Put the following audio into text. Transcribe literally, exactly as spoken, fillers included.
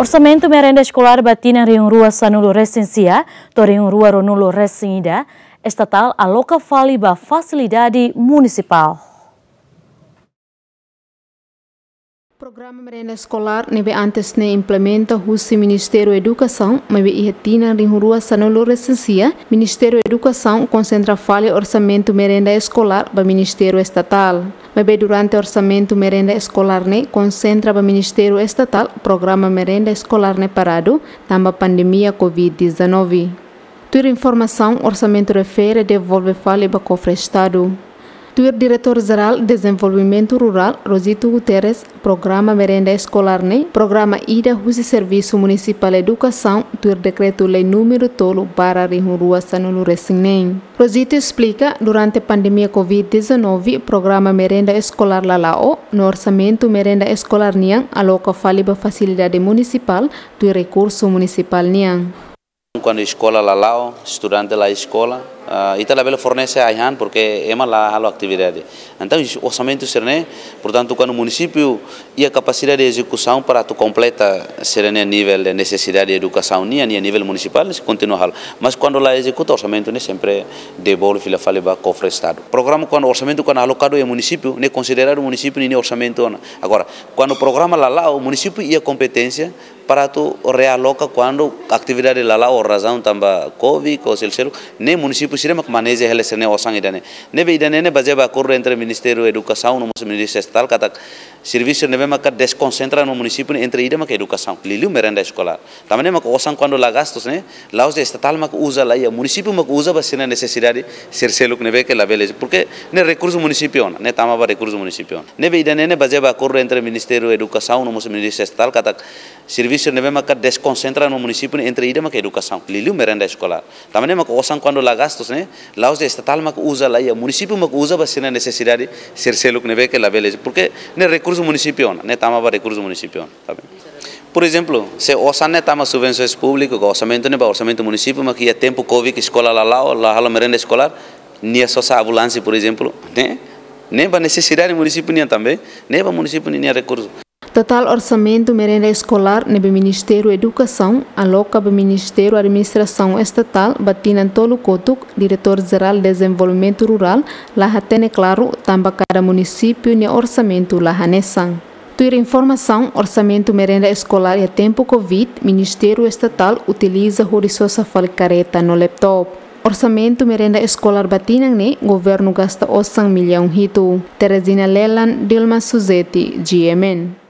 Orsamentu merenda eskolár ba tinan rihun rua sanulu resin sia to'o rihun rua ruanulu resin ida, estatál aloka fali ba fasilidade munisipál. Programa merenda eskolár ne'ebé antes ne'e implementa husi Ministériu Edukasaun, maibé iha tinan rihun rua sanulu resin sia, Ministériu Edukasaun konsentra fali orsamentu merenda eskolár ba Ministériu Estatál. Maibé durante orsamentu merenda eskolár ne'e konsentra ba Ministériu Estatál, programa merenda eskolár ne'e paradu, tanba pandemia covid dezanove. Tuir informasaun, orsamentu refere devolve fali ba kofre Estadu. Tuir Diretór Jerál Dezenvolvimentu Rurál, Rosito Guterres, programa merenda eskolár ne'e programa ida husi Servisu Munisipál Edukasaun, tuir Dekretu-Lei númeru tolu barra rihun rua sanulu resin neen. Rosito esplika, durante pandemia covid dezanove, programa merenda eskolár la la'o, no orsamentu merenda eskolár nian aloka fali ba fasilidade munisipál, tuir rekursu munisipál nian. Kuandu eskola la la'o, estudante la eskola, ah, ita labele fornese ai-han, porque ema la halo atividade. Entaun, orsamentu sira-ne'e, portantu, kuandu munisípiu iha kapasidade de ezekusaun para atu kompleta sira-nia nivel de nesesidade de edukasaun nian, nivel munisipál, sei kontinua halo. Mas kuandu la ezekuta, orsamentu ne'e sempre devolve fila fali ba kofre Estadu. Programa kuandu orsamentu kuandu alokadu iha munisípiu, ne'e konsideradu munisípiu ninia orsamentu ona. Agora, kuandu programa la la'o, munisípiu iha kompeténsia para atu realoka kuandu atividade la la'o ho razaun tanba covid ou seluk-seluk, ne'e munisípiu sira mak maneja hela sira-nia osan ida-ne'e. Ne'ebé ida-ne'e ne'e bazeia ba akordu entre Ministériu Edukasaun no mós Ministériu Estatál katak servisu ne'ebé maka deskonsentra no munisípiu ne'e entre ida maka edukasaun, liuliu merenda eskolár. Tanba ne'e maka osan kuandu la gastus ne'e, la'ós de'it estatál maka uza, laiha, munisípiu maka uza ba sira-nia nesesidade sira seluk ne'ebé ke labele. Porque ne'e rekursu munisípiu ona, ne'e tama ba rekursu munisípiu ona. Ne'ebé ida-ne'e ne'e bazeia ba akordu entre Ministériu Edukasaun no mós Ministériu Estatál katak servisu ne'ebé maka deskonsentra no munisípiu ne'e entre ida maka edukasaun, liuliu merenda eskolár. Tanba ne'e maka osan kuandu la gastus ne'e, la'ós de'it estatál maka uza, laiha, munisípiu maka uza ba sira-nia nesesidade sira seluk ne'ebé ke labele. Porque ne'e rekursu munisípiu ona, ne'e tama ba rekursu munisípiu ona, tá bem? Por ezemplu, se osan ne'e tama subvensaun públiku, ka orsamentu ne'e ba orsamentu munisípiu, maka iha tempu covid eskola la la'o, la halo merenda eskolár, nia sosa ambulánsia, por ezemplu, ne'e, ne'e ba nesesidade munisípiu nian tanba, ne'e ba munisípiu ninia rekursu. Totál orsamentu merenda eskolár ne'ebé Ministériu Edukasaun aloka ba Ministériu Administrasaun Estatál ba tinan tolu kotuk, Diretór Jerál Dezenvolvimentu Rurál la hatene klaru tanba kada munisípiu nia orsamentu la hanesan. Tuir informasaun, orsamentu merenda eskolár iha tempu covid, Ministériu Estatál utiliza hodi sosa fali kareta no laptop. Orsamentu merenda eskolár ba tinan ne'e, governu gasta osan millaun hitu. Teresina Lelan, Dilma Suzeti, G M N.